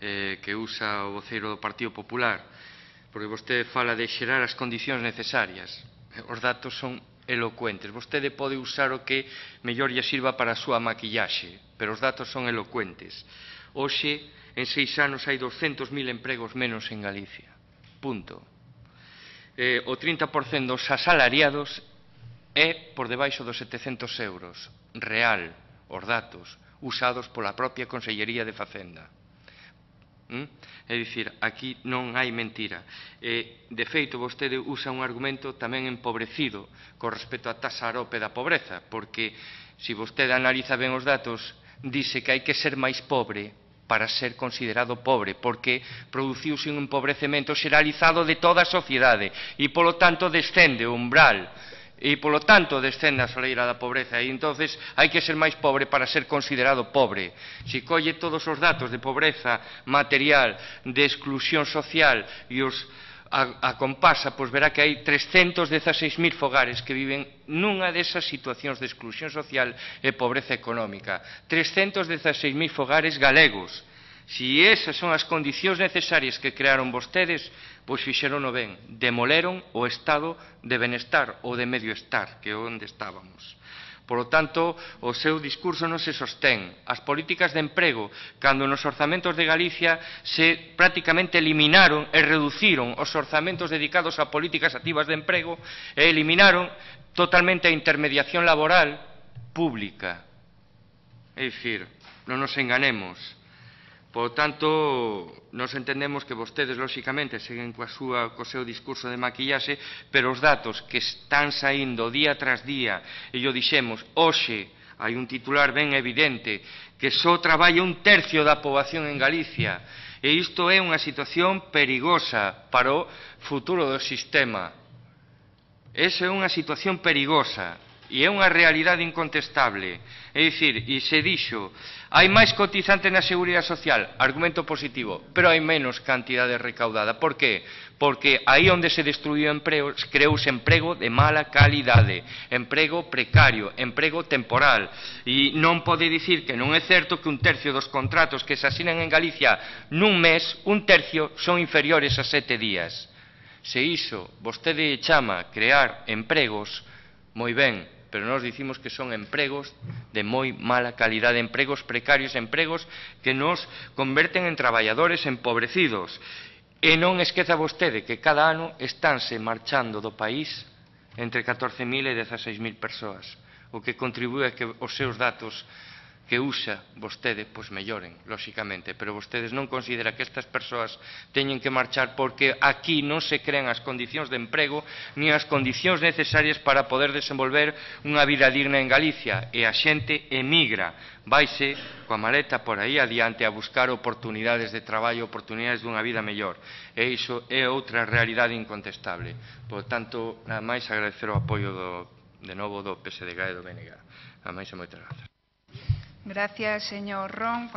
que usa o voceiro do Partido Popular, porque vostede fala de xerar as condicións necesarias. Os datos son elocuentes. Vostede pode usar o que mellor lle sirva para a súa maquillaxe, pero os datos son elocuentes. Hoxe, en 6 anos, hai 200.000 empregos menos en Galicia. Punto. O 30% dos asalariados é por debaixo dos 700 euros. Real, os datos, usados pola propia Consellería de Facenda. É dicir, aquí non hai mentira. De feito, vostede usa un argumento tamén empobrecido con respecto á taxa arope da pobreza, porque se vostede analiza ben os datos, dice que hai que ser máis pobre para ser considerado pobre, porque produciuse un empobrecemento xeralizado de toda a sociedade e, polo tanto, descende o umbral e, polo tanto, descende a soleira da pobreza e, entonces, hai que ser máis pobre para ser considerado pobre. Se colle todos os datos de pobreza material, de exclusión social e os a compasa, pois verá que hai 316.000 fogares que viven nunha desas situacións de exclusión social e pobreza económica. 316.000 fogares galegos. Se esas son as condicións necesarias que crearon vostedes, pois fixerono ben, demoleron o estado de benestar ou de medio estar, que é onde estábamos. Por lo tanto, o seu discurso non se sostén. As políticas de emprego, cando nos orzamentos de Galicia se prácticamente eliminaron e reduciron os orzamentos dedicados a políticas activas de emprego e eliminaron totalmente a intermediación laboral pública. É dicir, non nos enganemos. Por tanto, nos entendemos que vostedes, lóxicamente, seguen co seu discurso de maquillaxe, pero os datos que están saindo día tras día, e yo dixemos, hoxe hai un titular ben evidente, que só traballa 1/3 da poboación en Galicia, e isto é unha situación perigosa para o futuro do sistema. Esa é unha situación perigosa. E é unha realidade incontestable. É dicir, e se dixo, hai máis cotizantes na Seguridade Social, argumento positivo, pero hai menos cantidade recaudada. Por qué? Porque aí onde se destruiu emprego, creouse emprego de mala calidade, emprego precario, emprego temporal. E non pode dicir que non é certo que 1/3 dos contratos que se asinan en Galicia nun mes, 1/3 son inferiores a 7 días. Se iso vostede chama crear empregos, moi ben, pero nós dicimos que son empregos de moi mala calidade, empregos precarios, empregos que nos converten en traballadores empobrecidos. E non esqueza vostede que cada ano estánse marchando do país entre 14.000 e 16.000 persoas, o que contribúe a que os seus datos que usa vostede, pois melloren, lóxicamente, pero vostedes non consideran que estas persoas teñen que marchar porque aquí non se crean as condicións de emprego ni as condicións necesarias para poder desenvolver unha vida digna en Galicia, e a xente emigra, vaise coa maleta por aí adiante a buscar oportunidades de traballo, oportunidades dunha vida mellor, e iso é outra realidade incontestable. Por tanto, nada máis agradecer o apoio de novo do PSDG e do BNG. Nada máis e moitas grazas. Gracias, señor Ron.